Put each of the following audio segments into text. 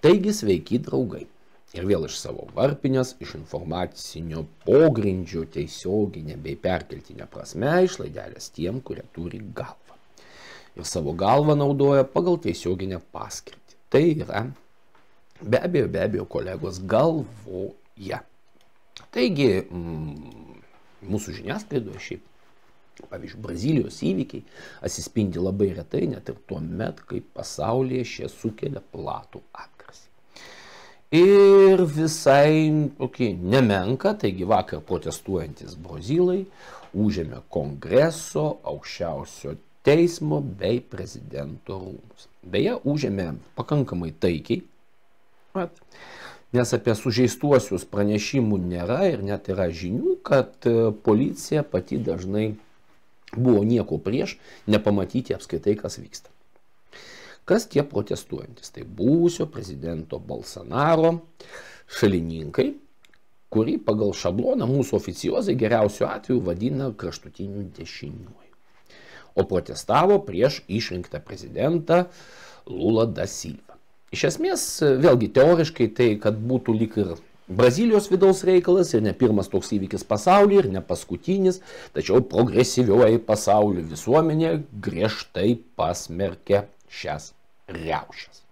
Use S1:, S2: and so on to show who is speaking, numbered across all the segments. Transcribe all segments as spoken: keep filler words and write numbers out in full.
S1: Taigi sveiki draugai. Ir vėl iš savo varpinės, iš informacinio pogrindžio tiesioginė bei perkeltinė prasme išlaidelės tiem, kurie turi galvą. Ir savo galvą naudoja pagal tiesioginę paskirtį. Tai yra be abejo, be abejo kolegos galvoje. Taigi mm, mūsų žiniasklaidoje šiaip, pavyzdžiui, Brazilijos įvykiai atsispindi labai retai, net ir tuo met, kai pasaulyje šie sukelia platų atgarsį. Ir visai tokį nemenka, taigi vakar protestuojantis brazilai užėmė Kongreso, aukščiausio teismo bei prezidento rūmus. Beje, užėmė pakankamai taikiai, nes apie sužeistuosius pranešimų nėra ir net yra žinių, kad policija pati dažnai buvo nieko prieš nepamatyti apskritai, kas vyksta. Kas tie protestuojantis? Tai buvusio prezidento Bolsonaro šalininkai, kurį pagal šabloną mūsų oficiozai geriausiu atveju vadina kraštutiniu dešiniuoju. O protestavo prieš išrinktą prezidentą Lula da Silva. Iš esmės, vėlgi teoriškai tai, kad būtų lyg ir Brazilijos vidaus reikalas ir ne pirmas toks įvykis pasaulyje ir ne paskutinis, tačiau progresyvioji pasaulio visuomenė griežtai pasmerkė šias riaušes.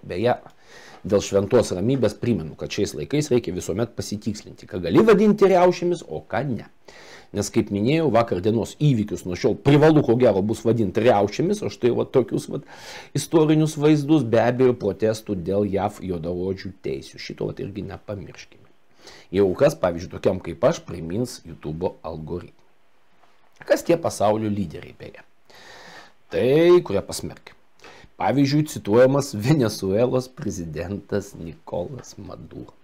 S1: Beje, dėl šventos ramybės primenu, kad šiais laikais reikia visuomet pasitikslinti, ką gali vadinti riaušėmis, o ką ne. Nes, kaip minėjau, vakar dienos įvykius nuo šiol privalu, ko gero, bus vadinti riaušėmis, o štai va, tokius va, istorinius vaizdus, be abejo, protestų dėl J A V juodaodžių teisių. Šito va, irgi nepamirškime. Jau kas, pavyzdžiui, tokiam kaip aš, primins YouTube algoritmą. Kas tie pasaulio lyderiai beje? Tai, kurie pasmerkė. Pavyzdžiui, cituojamas Venesuelos prezidentas Nikolas Maduro.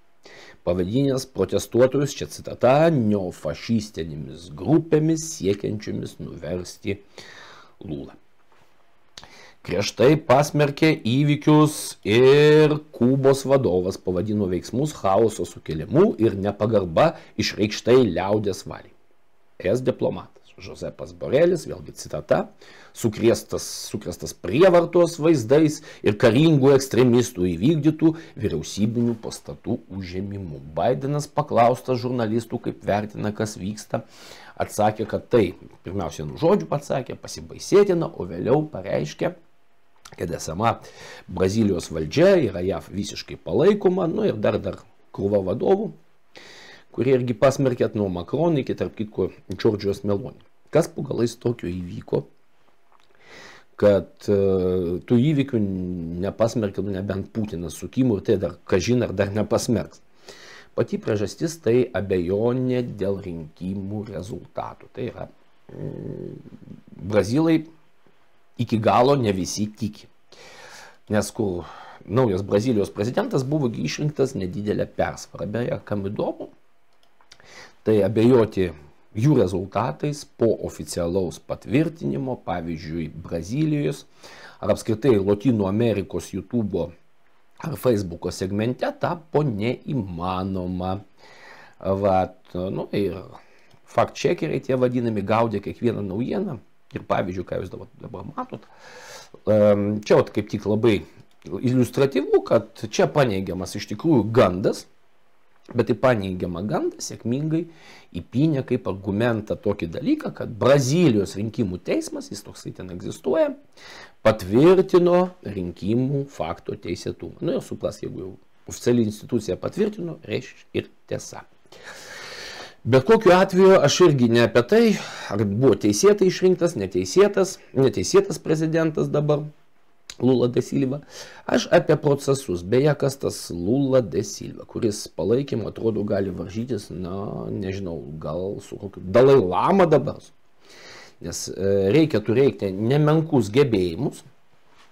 S1: Pavadinęs protestuotojus, čia citata, neofašistinėmis grupėmis siekiančiomis nuversti Lulą. Griežtai pasmerkė įvykius ir Kubos vadovas, pavadino veiksmus chaoso sukėlimu ir nepagarba išreikštai liaudės valiai. Es diplomatas Josepas Borelis, vėlgi citata, sukrėstas, sukrėstas prievartos vaizdais ir karingų ekstremistų įvykdytų vyriausybinių pastatų užėmimų. Bidenas paklaustas žurnalistų, kaip vertina, kas vyksta, atsakė, kad tai, pirmiausia, nu žodžių pasakė, pasibaisėtina, o vėliau pareiškė, kad esama Brazilijos valdžia yra J A V visiškai palaikoma, nu ir dar dar krūva vadovų, kurie irgi pasmerkėt nuo Macron iki, tarp kitko, Džordžijos Meloni. Kas po galais tokio įvyko, kad uh, tų įvykių nepasmerkė, nu, nebent Putinas su Kimu, ir tai dar kažin ar dar nepasmerks. Pati priežastis tai abejonė dėl rinkimų rezultatų. Tai yra, mm, brazilai iki galo ne visi tiki. Nes kur naujas Brazilijos prezidentas buvo išrinktas nedidelę persvarą. Beje, kam įdomu, tai abejoti jų rezultatais po oficialaus patvirtinimo, pavyzdžiui, Brazilijos ar apskritai Lotynų Amerikos YouTube ar Facebooko segmente tapo neįmanoma. Vat, nu, ir fact-checkeriai tie vadinami gaudė kiekvieną naujieną ir pavyzdžiui, ką jūs dabar, dabar matot, čia vat, kaip tik labai iliustratyvu, kad čia paneigiamas iš tikrųjų gandas, bet į paneigiamą gandą sėkmingai įpynė kaip argumentą tokį dalyką, kad Brazilijos rinkimų teismas, jis toksai ten egzistuoja, patvirtino rinkimų fakto teisėtumą. Nu ir supras, jeigu jau oficiali institucija patvirtino, reiškia ir tiesa. Bet kokiu atveju aš irgi ne apie tai, ar buvo teisėtai išrinktas, neteisėtas, neteisėtas prezidentas dabar, Lula da Silva. Aš apie procesus. Beje, kas tas Lula da Silva, kuris palaikymu atrodo gali varžytis, na, nežinau, gal su kokiu Dalai Lama dabar. Nes e, reikia turėti nemenkus gebėjimus,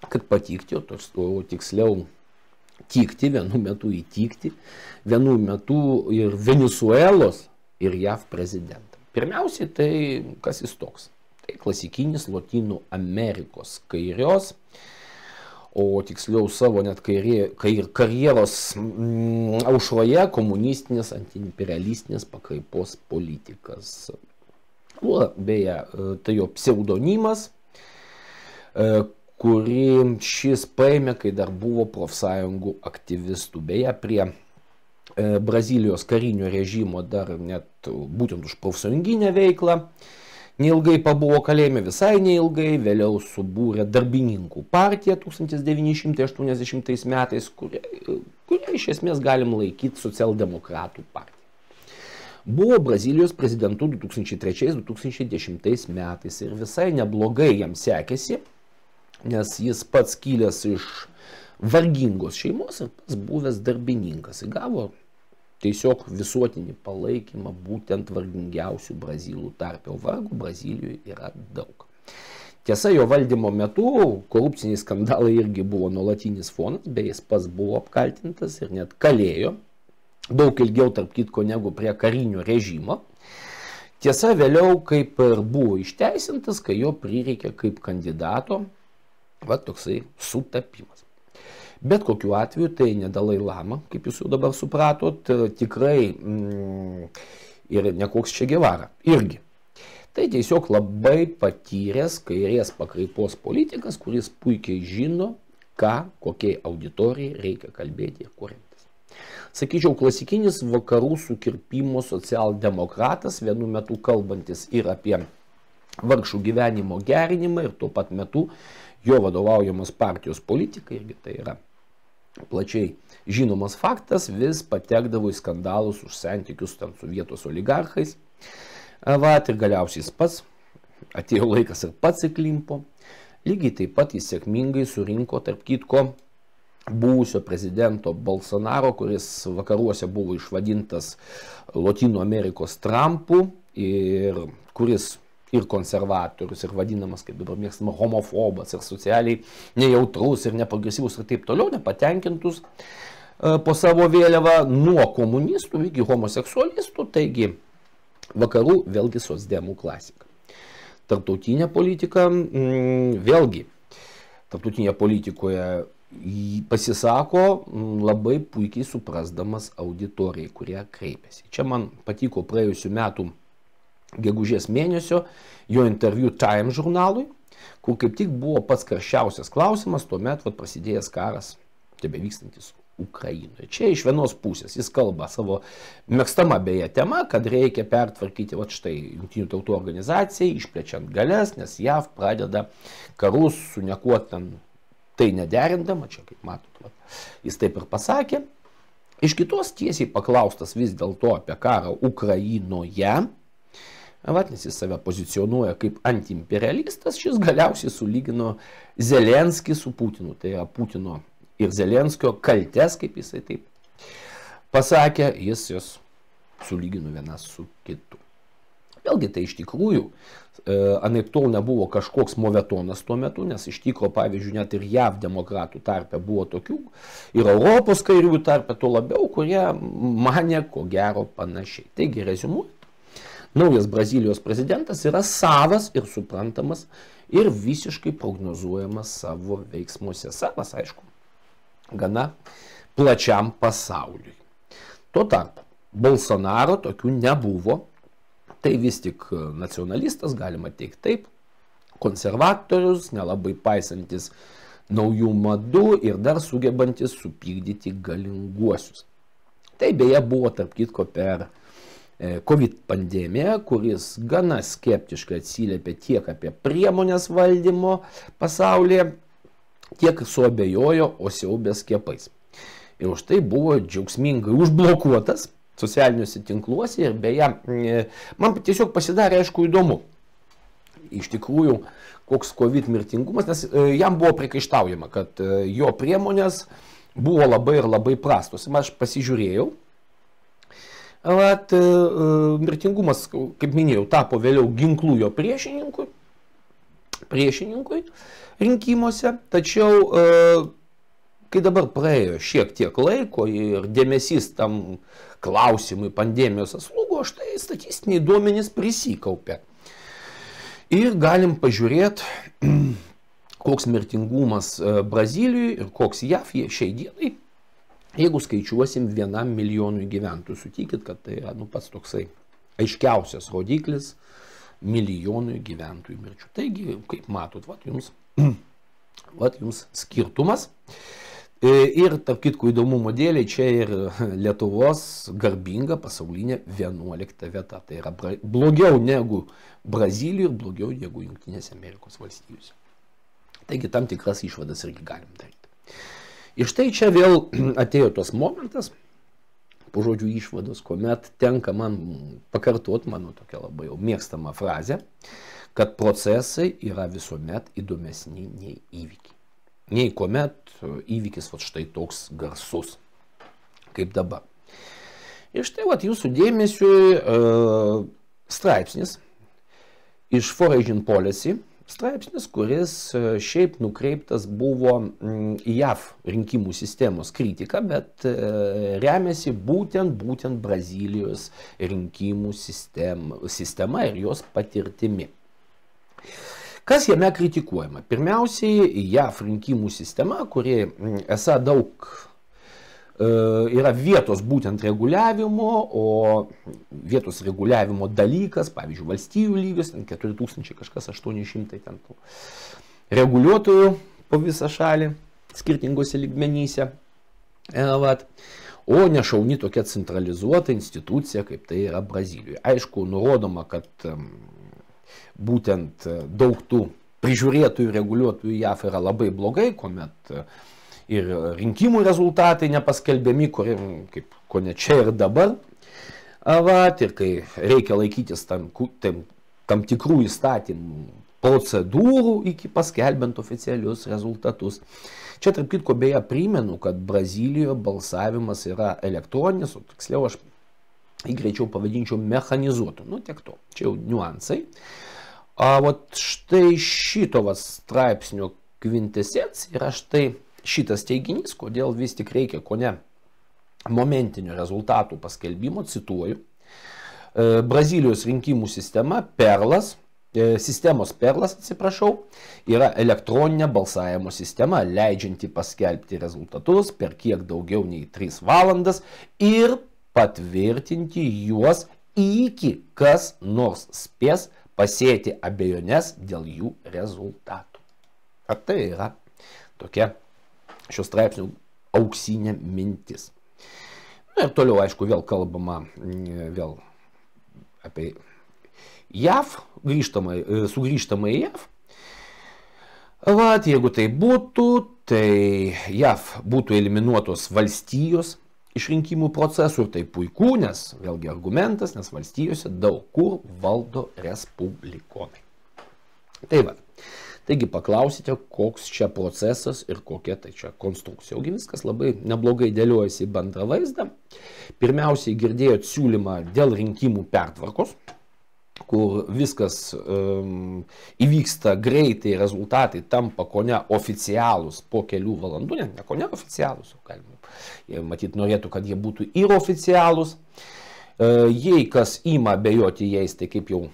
S1: kad patikti, o, tos, o tiksliau tikti, vienu metu įtikti, vienu metu ir Venesuelos ir J A V prezidentą. Pirmiausiai, tai kas jis toks? Tai klasikinis Lotynų Amerikos kairios, o tiksliau savo net kairė, kair, karjeros mm, aušroje komunistinės, antiimperialistinės pakraipos politikas. O, beje, tai jo pseudonimas, kuri šis paėmė, kai dar buvo profsąjungų aktyvistų. Beje, prie e, Brazilijos karinio režimo dar net būtent už profsąjunginę veiklą neilgai pabuvo kalėjime, visai neilgai, vėliau subūrė darbininkų partiją tūkstantis devyni šimtai aštuoniasdešimtais metais, kurią, kurią iš esmės galim laikyti socialdemokratų partiją. Buvo Brazilijos prezidentu du tūkstančiai trečiais du tūkstančiai dešimtais metais ir visai neblogai jam sekėsi, nes jis pats kilęs iš vargingos šeimos ir pats buvęs darbininkas. Jis gavo tiesiog visuotinį palaikymą būtent vargingiausių brazilų tarpe, o vargų Brazilijoje yra daug. Tiesa, jo valdymo metu korupciniai skandalai irgi buvo nuolatinis fonas, bei jis pats buvo apkaltintas ir net kalėjo, daug ilgiau tarp kitko negu prie karinio režimo. Tiesa, vėliau kaip ir buvo išteisintas, kai jo prireikė kaip kandidato, va toksai sutapimas. Bet kokiu atveju tai ne Dalai Lama, kaip jūs jau dabar supratot, tikrai mm, ir ne koks Che Guevara irgi. Tai tiesiog labai patyręs kairės pakraipos politikas, kuris puikiai žino, ką, kokiai auditorijai reikia kalbėti ir kur remtis. Sakyčiau, klasikinis vakarų sukirpimo socialdemokratas, vienu metu kalbantis ir apie vargšų gyvenimo gerinimą ir tuo pat metu jo vadovaujamos partijos politikai, irgi tai yra plačiai žinomas faktas, vis patekdavo į skandalus už santykius ten su vietos oligarchais. Vat, ir galiausiai jis pats, atėjo laikas ir pats įklimpo. Lygiai taip pat jis sėkmingai surinko, tarp kitko, buvusio prezidento Bolsonaro, kuris vakaruose buvo išvadintas Lotynų Amerikos Trumpu ir kuris ir konservatorius, ir vadinamas, kaip dabar mėgstama, homofobas, ir socialiai nejautrus, ir neprogresyvus, ir taip toliau, nepatenkintus po savo vėliavą nuo komunistų iki homoseksualistų, taigi vakarų vėlgi socdemų klasika. Tarptautinė politika, vėlgi, tarptautinėje politikoje pasisako labai puikiai suprasdamas auditorijai, kurie kreipiasi. Čia man patiko praėjusių metų gegužės mėnesio jo interviu Time žurnalui, kur kaip tik buvo pats karščiausias klausimas, tuomet vat, prasidėjęs karas, tebevykstantis Ukrainoje. Čia iš vienos pusės jis kalba savo mėgstama beje tema, kad reikia pertvarkyti vat, štai Jungtinių tautų organizacijai, išplečiant galias, nes J A V pradeda karus su niekuo ten tai nederindama, čia kaip matot, vat, jis taip ir pasakė. Iš kitos tiesiai paklaustas vis dėlto apie karą Ukrainoje, vat, nes jis save pozicionuoja kaip antiimperialistas, šis galiausiai sulygino Zelenskį su Putinu. Tai yra Putino ir Zelenskio kaltes, kaip jisai taip pasakė, jis jos sulygino vienas su kitu. Vėlgi tai iš tikrųjų, e, anaip tol nebuvo kažkoks movetonas tuo metu, nes iš tikro, pavyzdžiui, net ir J A V demokratų tarpe buvo tokių, ir Europos kairiųjų tarpe to labiau, kurie mane ko gero panašiai. Taigi, reziumuojant, naujas Brazilijos prezidentas yra savas ir suprantamas ir visiškai prognozuojamas savo veiksmuose. Savas, aišku, gana plačiam pasauliui. Tuo tarpu Bolsonaro tokių nebuvo. Tai vis tik nacionalistas, galima teikti taip, konservatorius, nelabai paisantis naujų madų ir dar sugebantis supykdyti galinguosius. Tai beje buvo tarp kitko per COVID pandemiją, kuris gana skeptiškai atsiliepė tiek apie priemonės valdymo pasaulyje, tiek suabejojo, o siaubė skiepais. Ir už tai buvo džiaugsmingai užblokuotas socialiniuose tinkluose ir beje, man tiesiog pasidarė aišku įdomu. Iš tikrųjų, koks COVID mirtingumas, nes jam buvo priekaištaujama, kad jo priemonės buvo labai ir labai prastos. Aš pasižiūrėjau, at, mirtingumas, kaip minėjau, tapo vėliau ginklų jo priešininkui, priešininkui rinkimuose, tačiau kai dabar praėjo šiek tiek laiko ir dėmesys tam klausimui pandemijos atslūgo, štai statistiniai duomenys prisikaupė. Ir galim pažiūrėti, koks mirtingumas Brazilijoje ir koks J A V šiai dienai, jeigu skaičiuosim vienam milijonui gyventojų. Sutikit, kad tai yra nu, pats toksai aiškiausias rodiklis milijonui gyventojų mirčių. Taigi, kaip matot, vat, jums Vat jums skirtumas. Ir, tarp kitko, įdomumo dėliai, čia ir Lietuvos garbinga pasaulinė vienuolikta vieta. Tai yra blogiau negu Brazilijoje ir blogiau negu Jungtinėse Amerikos valstijose. Taigi tam tikras išvadas irgi galim daryti. Ir štai čia vėl atėjo tos momentas, po žodžių išvados, kuomet tenka man pakartoti mano tokia labai jau mėgstama frazė, kad procesai yra visuomet įdomesni nei įvykiai. Nei kuomet įvykis vat štai toks garsus, kaip dabar. Ir štai vat jūsų dėmesiui uh, straipsnis iš Foreign Policy, straipsnis, kuris uh, šiaip nukreiptas buvo mm, į J A V rinkimų sistemos kritiką, bet uh, remiasi būtent, būtent Brazilijos rinkimų sistem, sistema ir jos patirtimi. Kas jame kritikuojama? Pirmiausiai, J A V rinkimų sistema, kuri esą daug e, yra vietos būtent reguliavimo, o vietos reguliavimo dalykas, pavyzdžiui, valstijų lygis, ten keturi tūkstančiai kažkas aštuoni šimtai ten tų reguliuotojų po visą šalį, skirtingose lygmenyse. E, vat. O nešauni tokia centralizuota institucija, kaip tai yra Brazilijoje. Aišku, nurodoma, kad būtent daug tų prižiūrėtojų, reguliuotojų J A V yra labai blogai, kuomet ir rinkimų rezultatai nepaskelbiami, kurie, kaip ko ne čia ir dabar. Vat, ir kai reikia laikytis tam, tam, tam tikrų įstatymų procedūrų iki paskelbiant oficialius rezultatus. Čia, tarp kitko, beje, primenu, kad Brazilijoje balsavimas yra elektroninis, o tiksliau aš jį greičiau pavadinčiau mechanizuotu. Nu, tiek to. Čia jau niuansai. A, vat štai šito vat straipsnio kvintesencija yra štai šitas teiginys, kodėl vis tik reikia ko ne momentinio rezultatų paskelbimo, cituoju. E, Brazilijos rinkimų sistema perlas, e, sistemos perlas, atsiprašau, yra elektroninė balsavimo sistema, leidžianti paskelbti rezultatus per kiek daugiau nei tris valandas ir patvirtinti juos iki kas nors spės pasėti abejonės dėl jų rezultatų. Ar tai yra tokia šios straipsnių auksinė mintis. Na ir toliau, aišku, vėl kalbama vėl apie J A V, grįžtamai, sugrįžtamai į J A V. Vat, jeigu tai būtų, tai J A V būtų eliminuotos valstijos iš rinkimų procesų ir tai puiku, nes vėlgi argumentas, nes valstijose daug kur valdo respublikonai. Tai va, taigi paklausite, koks čia procesas ir kokia tai čia konstrukcija. Ogi viskas labai neblogai dėliojasi į bendrą vaizdą. Pirmiausiai girdėjot siūlymą dėl rinkimų pertvarkos, kur viskas um, įvyksta greitai, rezultatai tampa ko ne oficialūs po kelių valandų, ne, ne ko ne oficialūs, galima, jie matyt norėtų, kad jie būtų ir oficialūs. E, jei kas ima abejoti jais, tai kaip jau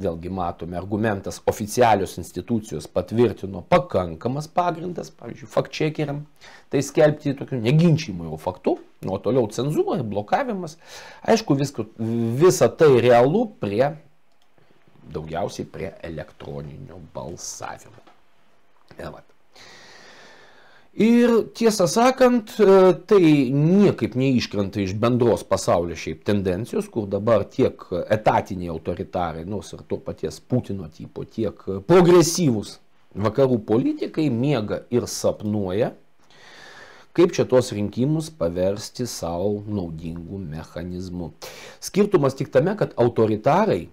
S1: vėlgi matome, argumentas oficialios institucijos patvirtino pakankamas pagrindas, pavyzdžiui, fact-checkeriam, tai skelbti tokių neginčijimų jau faktų, nuo toliau cenzūra ir blokavimas. Aišku, visko, visa tai realu prie daugiausiai prie elektroninio balsavimo. Ir tiesą sakant, tai niekaip neiškrenta iš bendros pasaulio šiaip tendencijos, kur dabar tiek etatiniai autoritarai, nors ir to paties Putino tipo, tiek progresyvūs vakarų politikai miega ir sapnuoja, kaip čia tos rinkimus paversti savo naudingų mechanizmų. Skirtumas tik tame, kad autoritarai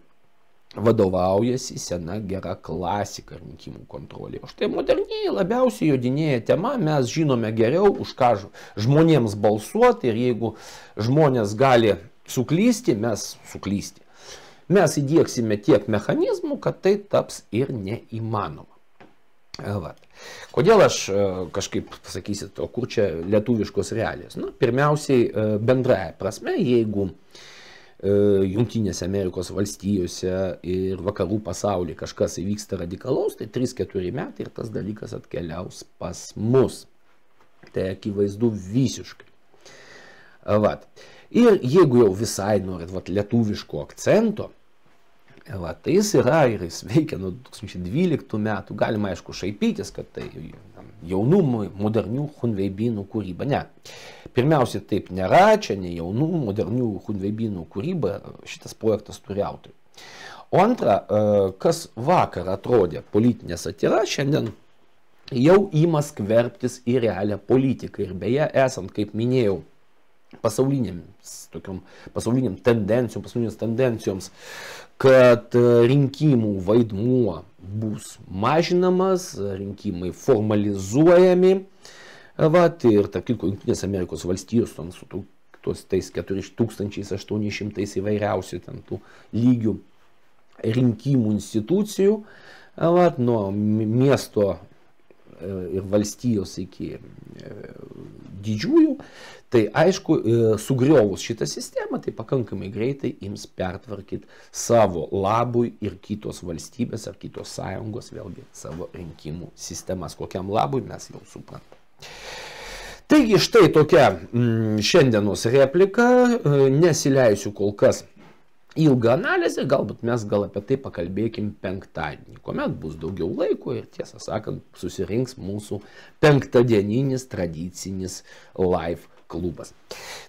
S1: vadovaujasi sena gera klasika rinkimų kontrolė. O štai moderniai labiausiai jodinėja tema, mes žinome geriau, už ką žmonėms balsuoti ir jeigu žmonės gali suklysti, mes suklysti. Mes įdieksime tiek mechanizmų, kad tai taps ir neįmanoma. Vat. Kodėl aš kažkaip pasakysit, o kur čia lietuviškos realijos? Na, pirmiausiai bendraja prasme, jeigu Jungtinėse Amerikos valstijose ir vakarų pasaulyje kažkas įvyksta radikalaus, tai trys keturi metai ir tas dalykas atkeliaus pas mus. Tai akivaizdu visiškai. Vat. Ir jeigu jau visai norit vat, lietuviško akcento, vat, tai jis yra ir jis veikia nuo du tūkstančiai dvyliktų metų. Galima aišku šaipytis, kad tai jaunų, modernių chunveibynų kūryba. Ne. Pirmiausia, taip nėra, čia ne jaunų, modernių chunveibynų kūryba, šitas projektas turi autorių. O antra, kas vakar atrodė politinė satyra, šiandien jau ima skverbtis į realią politiką. Ir beje, esant, kaip minėjau, pasauliniams, tokiom, pasauliniam tendencijom, pasaulinėms tendencijoms, kad rinkimų vaidmuo bus mažinamas, rinkimai formalizuojami. Vat, ir tarp kitko, Jungtinės Amerikos valstijos su tos tais keturi tūkstančiai aštuoni šimtai įvairiausių ten tų lygių rinkimų institucijų, vat, nuo miesto ir valstijos iki didžiųjų, tai aišku, sugriovus šitą sistemą, tai pakankamai greitai ims pertvarkyti savo labui ir kitos valstybės ar kitos sąjungos, vėlgi savo rinkimų sistemas. Kokiam labui mes jau suprantame. Taigi štai tokia mm, šiandienos replika, nesileisiu kol kas ilgą analizę, galbūt mes gal apie tai pakalbėkim penktadienį, kuomet bus daugiau laiko ir tiesą sakant susirinks mūsų penktadieninis tradicinis live klubas.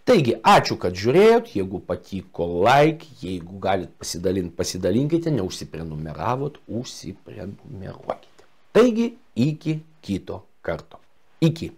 S1: Taigi, ačiū, kad žiūrėjot, jeigu patiko like, jeigu galit pasidalinti, pasidalinkite, neužsiprenumeravot, užsiprenumeruokite. Taigi, iki kito karto. Iki.